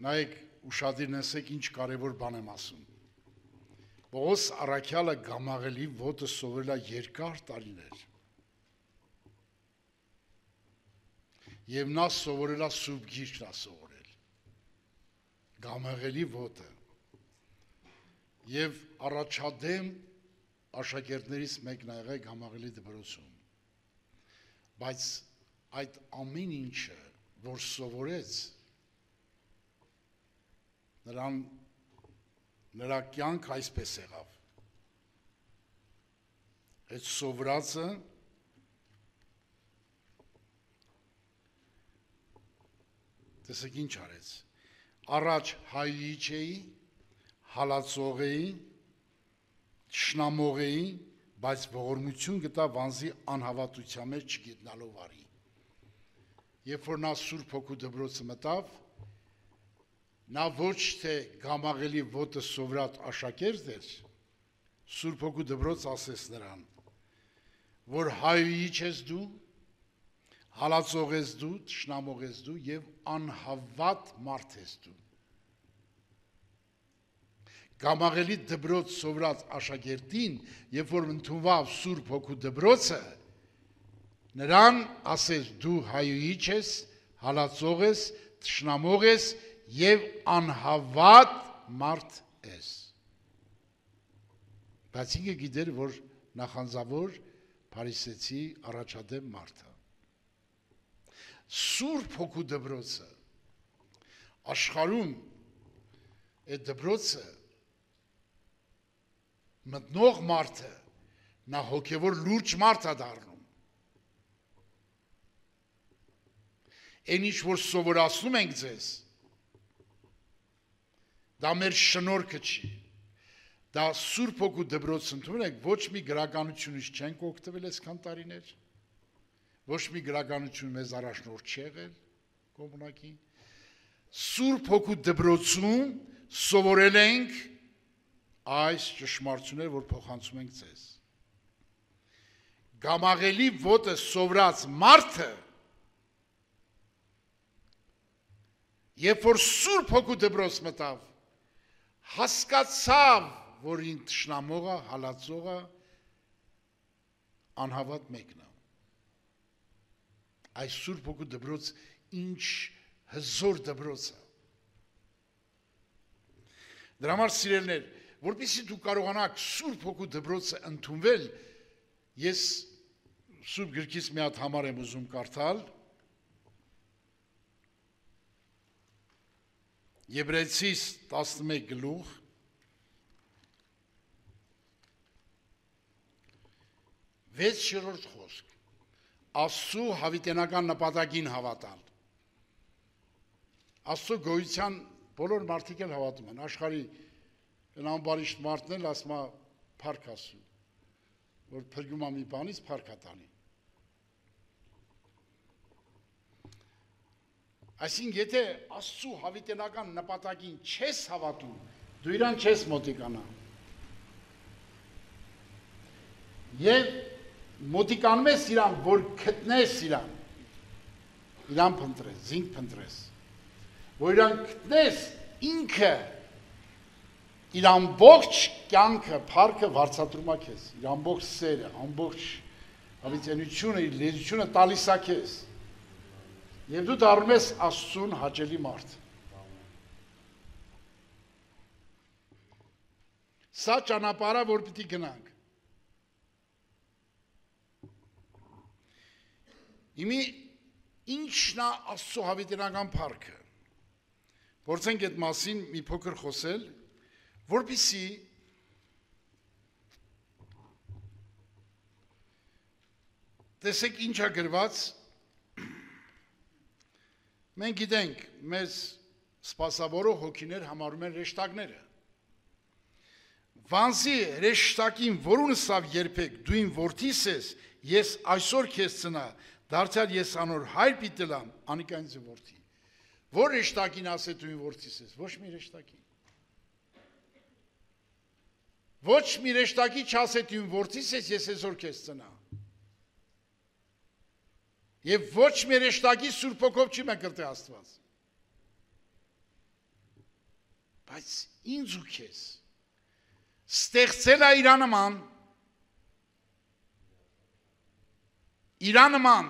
նայեք ուշադիր նսեք ինչ կարևոր բան եմ ասում։ Պողոս առաքյալը գամաղելի ոտը սովորել է երկար տարիներ։ Եվ նա սովորել է Սուրբ Գիրքն է սովորել։ Գամաղելի ոտը։ Եվ առաջադեմ աշակերտներից մեկն ա եղել Գամաղելի դպրոցում։ Բայց այդ ամեն ինչը, որ սովորեց, նրա կյանք այսպես եղավ։ Այդ սովորածը տեսեք ինչ արեց։ Առաջ հայուի չէի, հալածող էի, թշնամող էի, բայց ողորմություն գտա վանձի անհավատության մեջ չգիտնալով արի։ Երբ որ նա Սուրբ Հոգու դպրոցը մտավ, նա ոչ թե գամաղելի ոտը սովորած աշակերտ էր, Սուրբ Հոգու դպրոց ասեց նրան, որ հայուի չես դու, հալածող ես դու, թշնամող ես դու և անհավատ մարդ ես դու։ Գամաղելի դպրոց սովորած աշակերտին, երբ որ ընդունվավ Սուրբ Հոգու դպրոցը, նրան ասեց դու հայուի չես, հալածող ես, թշնամող ես և անհավատ մարդ ես։ Բայց ինքը գիտեր, որ նախանձավոր փարիսեցի առաջադեմ մարդը։ Սուրբ Հոգու դպրոցը աշխարհում այդ դպրոցը մտնող մարդը նա հոգևոր լուրջ մարդ է դառնում։ Այն ինչ որ սովորացնում ենք ձեզ, դա մեր շնորհքը չի։ Դա Սուրբ Հոգու դպրոցը ընդունեք, ոչ մի գրականությունից չենք օգտվել այսքան տարիներ։ Ոչ մի գրականություն մեզ առաջնորդ չի եղել կողմնակի։ Սուրբ Հոգու դպրոցում սովորել ենք այս ճշմարտությունները, որ փոխանցում ենք ձեզ։ Գամաղելի ոտը սովորած մարդը, երբ որ Սուրբ Հոգու դպրոց մտավ, հասկացավ, որ ինձ թշնամողը, հալածողը, անհավատ մեկն է։ Այս Սուրբ Հոգու դպրոց ինչ հզոր դպրոց է։ Դրա համար սիրելիներ, որպեսզի դու կարողանաք Սուրբ Հոգու դպրոցը ընդունվել, ես Սուրբ գրքից մի հատ համար եմ ուզում կարդալ։ Եբրայեցիս 11 գլուխ 6-րդ խոսք։ Աստծու հավիտենական նպատակին հավատալ։ Աստծու գոյության բոլոր մարդիկ էլ հավատում են, աշխարհի ամբարիշտ մարդն էլ ասում է փառք Աստծու, որ փրկում է մի բանից փառք տանի։ Այսինքն եթե Աստծու հավիտենական նպատակին չես հավատում, դու իրան չես մոտիկանա։ Եվ մոտիկանում ես իրան, որ գտնես իրան փնտրես, զինք փնտրես, որ իրան գտնես, ինքը իր ամբողջ կյանքը, փառքը վարձատրում է քեզ, իր ամբողջ սերը, ամբողջ հավիտենությունը, իր լեզությունը տալիս է քեզ, եւ դու դառնում ես Աստծուն հաճելի մարդ։ Սա ճանապարհը, որ պիտի գնանք։ Իմի ինչն է Աստծո հավիտենական փառքը։ Փորձենք այդ մասին մի փոքր խոսել, որպեսզի տեսեք ինչ է գրված։ Մենք գիտենք, մեզ սպասավորող հոգիներ համարում են հրեշտակները։ Վանզի հրեշտակին որուն սավ երբեք դու իմ որդիս ես, ես այսօր քեզ ծնա, դարձյալ ես անոր հայր պիտելամ, անիկա ինձ որդի։ Որ հրեշտակին ասե դու իմ որդիս ես, ոչ մի հրեշտակին։ Ոչ մի հրեշտակի չասե դու իմ որդիս ես, ես այսօր քեզ ծնա։ Եվ ոչ մի հրեշտակի Սուրբ Հոգով չի մկրտե Աստված։ բայց ինձ ու քեզ ստեղծել է իր նման,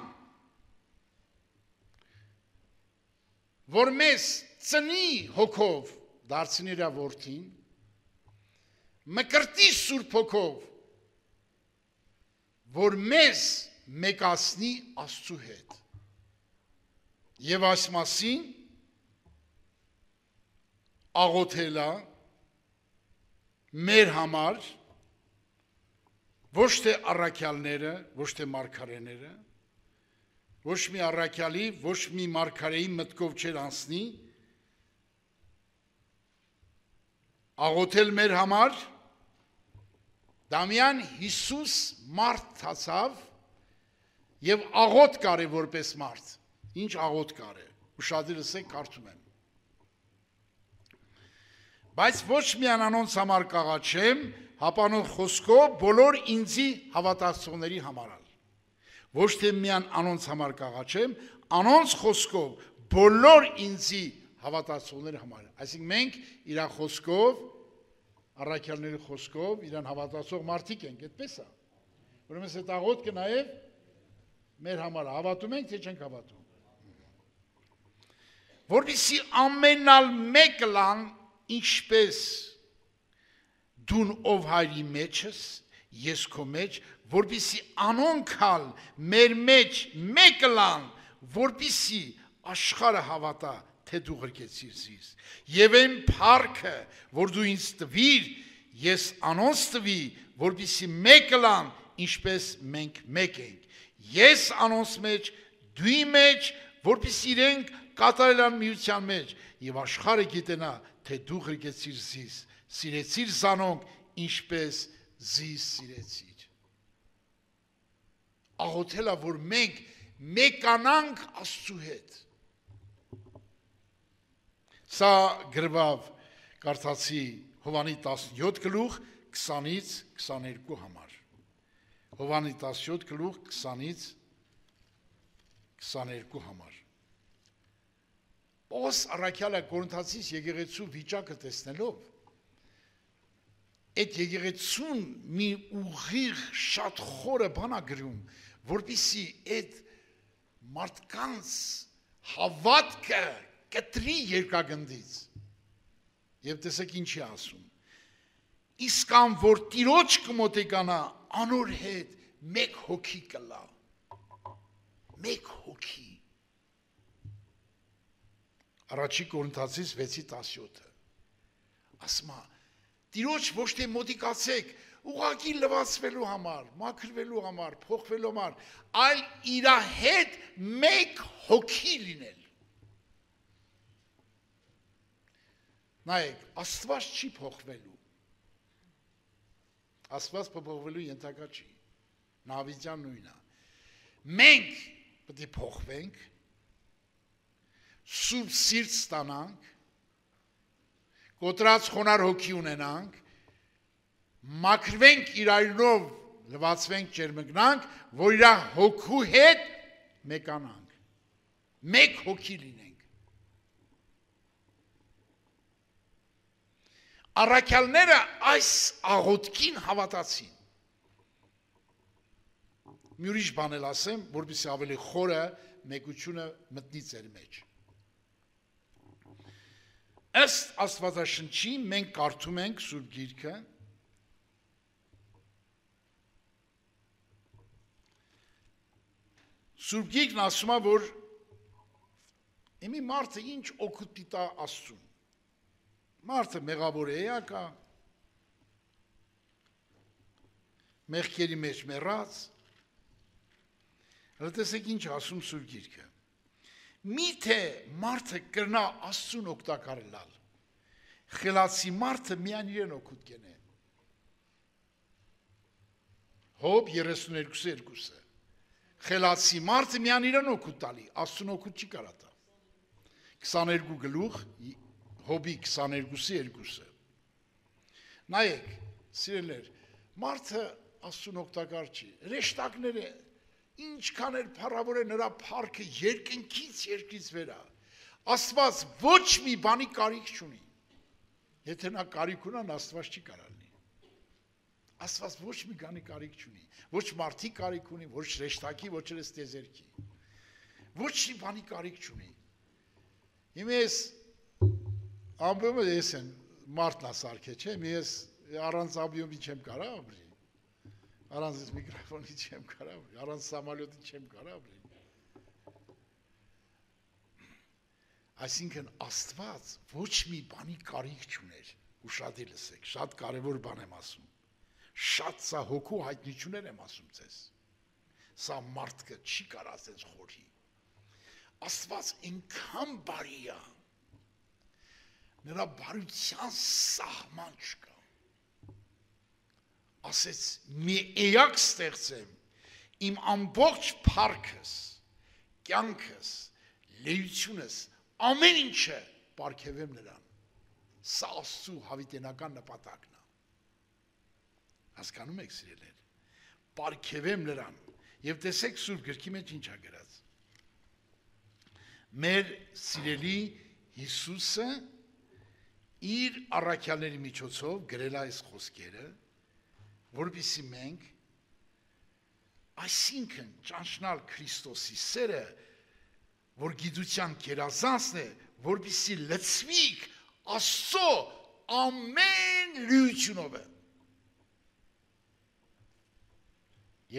որ մեզ ծնի հոգով դարձնի իր որդին, մկրտի Սուրբ Հոգով, որ մեզ մեկացնի Աստծու հետ։ Եվ այս մասին աղոթելա մեր համար ոչ թե առաքյալները, ոչ թե մարգարեները, ոչ մի առաքյալի, ոչ մի մարգարեի մտքով չեր անցնի, աղոթել մեր համար, Դամյան Հիսուս մարդ հասավ և աղոթ կար է որպես մարդ, ինչ աղոթ կար է, ուշադիրս եք կարդում եմ։ Բայց ոչ միայն անոնց համար կաղաչեմ, հապանոց խոսքով բոլոր ինձի հավատացողների համարալ։ Ոչ թե միայն անոնց համար կաղաչեմ, անոնց խոսքով բոլոր ինձի հավատացողների համար։ Այսինքն մենք իր խոսքով, առաքյալների խոսքով, իրան հավատացող մարդիկ ենք, այդպես է։ Ուրեմն այդ աղոթքը նաև մեր համար հավատում ենք, թե չենք հավատում։ Որպեսզի ամենալ մեկը լան, ինչպես դուն ով հայրի մեջս, ես քո մեջ, որպեսզի անոնքալ մեր մեջ մեկը լան, որպեսզի աշխարհը հավատա, թե դու ղրկեցիր զիս։ Եվ այն փառքը, որ դու ինձ տվիր, ես անոնց տվի, որպեսզի մեկը լան, ինչպես մենք մեկ ենք։ Ես անոնց մեջ, դու իմ մեջ, որպեսզի իրենք կատարելան միության մեջ, եւ աշխարհը գիտենա, թե դու ղրկեցիր զիս, սիրեցիր զանոնք, ինչպես զիս սիրեցիր։ Աղոթելա, որ մենք մեկանանք Աստծու հետ։ Սա գրվավ կարդացի Հովանի 17 գլուխ 20-ից 22 համար։ Հովանի 17 գլուխ 20-ից 22 համար։ Պողոս առաքյալը Կորինթացիս եկեղեցու վիճակը տեսնելով, այդ եկեղեցուն մի ուղիղ շատ խորը բան ա գրում, որպեսզի այդ մարդկանց հավատքը կտրի երկրագնդից։ Եվ տեսեք ինչի ասում։ Իսկ ան որ Տիրոջ կմոտիկանա, անոր հետ մեկ հոգի կլա։ Մեկ հոգի։ Առաջի Կորինթացիս 6:17 ասում է, Տիրոջ ոչ թե մոտիկացեք, ուղղակի լվացվելու համար, մաքրվելու համար, փոխվելու համար, այլ իր հետ մեկ հոգի լինել։ Նայեք, Աստված չի փոխվելու։ Աստված փոխվելու ենթակա չի։ Նավիճան նույնն է։ Մենք պետք է փոխվենք, սուրբ սիրտ ստանանք, կոտրած խոնար հոգի ունենանք, մաքրվենք իր այրով, լվացվենք, ջերմգնանք, որ իր հոգու հետ մեկանանք, մեկ հոգի լինենք։ Առաքյալները այս աղոթքին հավատացին։ Մի ուրիշ բան էլ ասեմ, որպեսզի ավելի խորը մեկությունը մտնի ձեր մեջ։ Ըստ Աստվածաշնչի մենք կարդում ենք Սուրբ Գիրքը, Սուրբ Գիրքն ասում է, որ իմի մարդը ինչ օգուտ տա Աստծուն։ Մարդը մեղավոր է եկա, մեղքերի մեջ մեռած, հələ տեսեք ինչ ասում Սուրբ Գիրքը։ Միթե մարդը կրնա Աստծուն օգտակարելալ, խելացի մարդը միայն իրեն օգուտ կենե։ Հոբ 32:2 խելացի մարդը միայն իրեն օգուտ տալի, Աստծուն օգուտ չի կարա տա։ 22 գլուխ Հոբի 22:2 Նայեք, սիրելիներ, մարդը Աստծուն օգտակար չի, հրեշտակները ինչքան էլ փառավոր է նրա փառքը երկնքից երկրից վրա, Աստված ոչ մի բանի կարիք չունի, Եթե նա կարիք ունան, Աստված չի կարող լինի։ Աստված ոչ մի գանի կարիք չունի, ոչ մարդի կարիք ունի, ոչ շեշտակի, ոչ ստեզերքի։ Ոչ մի բանի կարիք չունի։ Հիմա ես ամբողջ ես եմ մարդն ասարքե, չէ՞, ես առանց աբիոմի չեմ կարող ապրի։ Առանց միկրոֆոնի չեմ կարող ապրի, առանց սամալյոտի չեմ կարող ապրի։ Այսինքն Աստված ոչ մի բանի կարիք չուներ, ու շատ է լսեք, շատ կարևոր բան եմ ասում։ Շատ սա հոգու հայտնիություններ եմ ասում ձեզ։ Սա մարդկը չի կարող ասես խորի։ Աստված ինքան բարի է։ Նրա բարության սահման չկա։ Ասեց մի էակ ստեղծեմ իմ ամբողջ փառքս, կյանքս, լեյությունս, ամեն ինչը պարգևեմ նրան։ Սա Աստծո հավիտենական նպատակն է։ Հասկանում եք սիրելիներ։ Պարգևեմ նրան։ Եվ տեսեք Սուրբ գրքի մեջ ինչ է գրած։ Մեր սիրելի Հիսուսը իր առաքյալների միջոցով գրել է այս խոսքերը, որպեսզի մենք այսինքն ճանչնալ Քրիստոսի սերը, որ գիտության գերազանցն է, որպեսզի լցվիք Աստծո ամեն լիությունով է։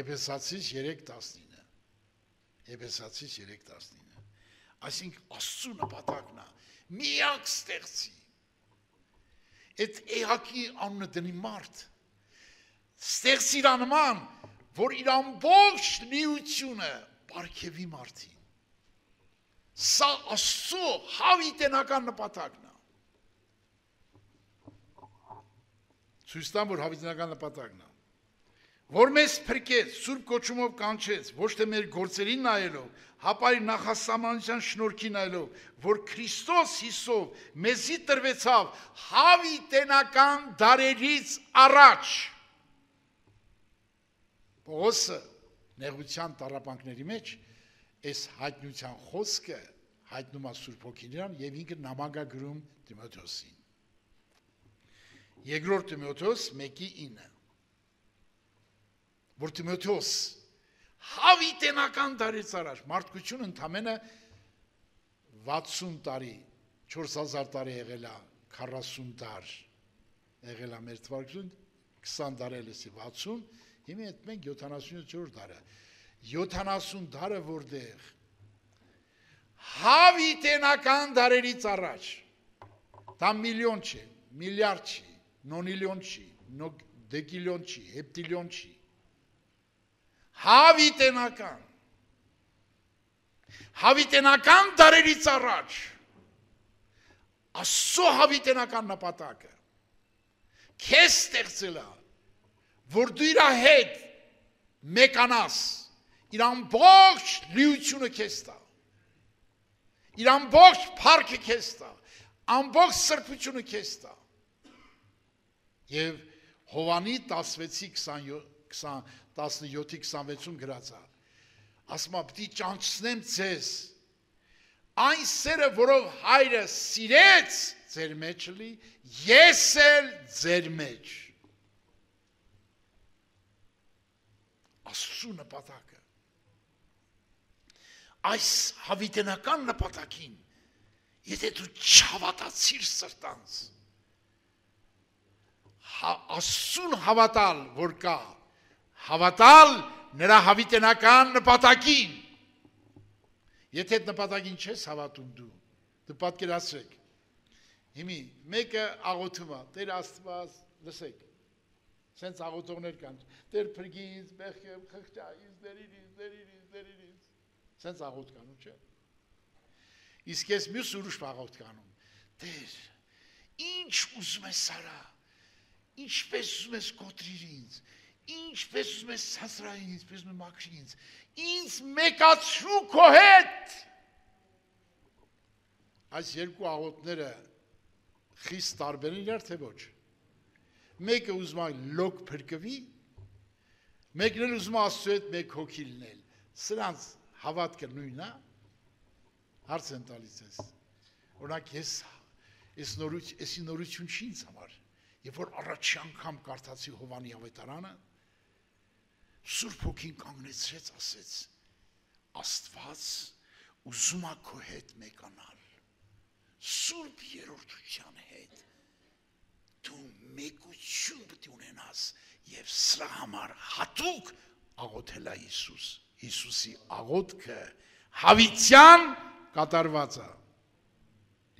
Եփեսացիս 3:19 Եփեսացիս 3:19 Այսինքն Աստծո նպատակն է միակ ստեղծի։ Այդ էակի անունը դնի մարդ ստեղծիր անման, որ իր ամբողջ լիությունը պարգևի մարդին։ Սա Աստծո հավիտենական նպատակն է։ Ցույց տամ, որ հավիտենական նպատակն է։ Որ մեզ փրկեց, Սուրբ կոչումով կանչեց, ոչ թե մեր գործերին նայելով, հապա իր նախասահմանության շնորհքին նայելով, որ Քրիստոս Հիսով մեզի տրվեցավ հավիտենական դարերից առաջ։ Պողոսը նեղության տառապանքների մեջ այս հայտնության խոսքը հայտնում է Սուրբ Հոգին եւ ինքը նամակագրում Տիմոթեոսին։ Երկրորդ Տիմոթեոս 1:9 որ Տիմոթեոս հավիտենական դարից առաջ մարդկությունը ընդամենը 60 տարի 4000 տարի եղել է 40 դար եղել է մեր թվարկություն 20 դար էլ էսի 60 հիմա այդ մենք 77-րդ դարը 70 դարը որտեղ հավիտենական դարերից առաջ դա միլիոն չի, միլիարդ չի, նոնիլիոն չի, դեկիլիոն չի, հեպտիլիոն չի հավիտենական դարերից առաջ Աստծո հավիտենական նպատակը քեզ ստեղծել է որ դու իր հետ մեկանաս իր ամբողջ լիությունը քեզ տա իր ամբողջ փառքը քեզ տա ամբողջ սրբությունը քեզ տա եւ Հովանի 17:26-ում գրած է ասում է պիտի ճանչնեմ ձեզ այն սերը որով հայրը սիրեց ձեր մեջ լի ես էլ ձեր մեջ Աստծո նպատակը այս հավիտենական նպատակին եթե դու չհավատացիր սրտանց Աստծուն հավատալ որ կա հավատալ նրա հավիտենական նպատակին եթե այդ նպատակին չես հավատում դու պատկերացրեք հիմի մեկը աղոթում է Տեր Աստված լսեք սենց աղոթողներ կան Տեր փրկիր բեղեմ խղճայից դերիրից սենց աղոթ կանում չէ իսկ ես մյուս ուրիշ աղոթ կանում Տեր ինչ ուզում ես արա ինչպես ուզում ես կոտրիր ինձ ինչպես ուզում ես ցածրային ինչպես ուզում ես մաքրիր ինձ մեկացրու քո հետ այս երկու աղոթները խիստ տարբեր են իրար թե ոչ մեկը ուզում է լոկ փրկվի մեկն էլ ուզում է Աստծո հետ մեկ հոգի լինել սրանց հավատքը նույնն է հարց եմ տալիս ես օրինակ ես Այս նորություն չի ինձ համար։ Երբ որ առաջի անգամ կարդացի Հովանի ավետարանը, Սուրբ Հոգին կանգնեցրեց, ասեց. Աստված ուզում է քո հետ մեկանալ։ Սուրբ երրորդության հետ դու մեկություն պետք է ունենաս եւ սրա համար հատուկ աղոթել է Հիսուս։ Հիսուսի աղոթքը հավիտյան կատարված է։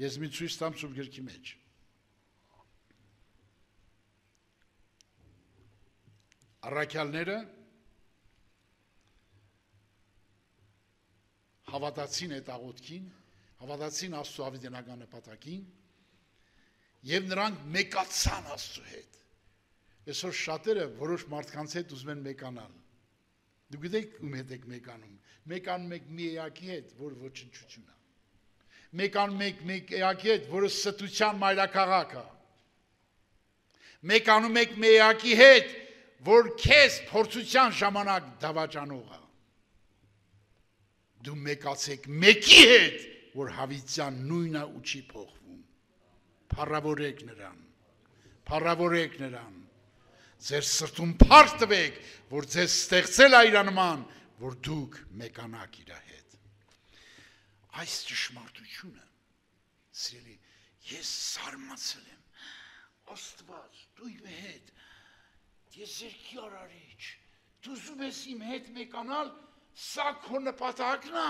Ես մի ցույց տամ Սուրբ գրքի մեջ։ Առաքյալները հավատացին այդ աղոթքին, հավատացին Աստծո ավետարանական նպատակին եւ նրանք մեկացան Աստծո հետ։ Այսօր շատերը որոշ մարդկանց հետ ուզում են մեկանալ։ Դուք գիտեք ում հետ եք մեկանում։ Մեկանում եք մի էակի հետ, որ ոչնչություն է։ Մեկանում եք մեկ էակի հետ, որը ստության մայրաքաղաք է։ Մեկանում եք մի էակի հետ, որ քեզ փորձության ժամանակ դավաճանող է։ Դու մեկացեք մեկի հետ, որ հավիտյան նույնը ու չի փոխվում։ Փառավորեք նրան։ Փառավորեք նրան։ Ձեր սրտում փառք տվեք, որ ձեզ ստեղծել է իր նման, որ դուք մեկանաք իր հետ։ Այս ճշմարտությունը, սիրելի, ես զարմացել եմ։ Աստված, դու իմ հետ, ես երկի արարիչ, դու ուզում ես իմ հետ մեկանալ, սա քո նպատակն է,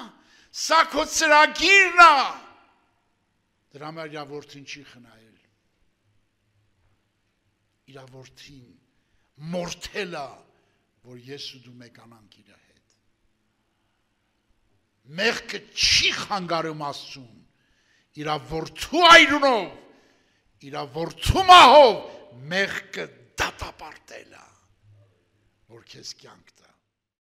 սա քո ծրագիրն է։ Դրա համար իր որդին չի խնայել։ Իր որդին մորթել է, որ ես ու դու մեկանանք իր հետ։ Մեղքը չի խանգարում Աստծուն, իր որդու այրունով, իր որդու մահով մեղքը դատապարտել է, որ քեզ կյանք տա։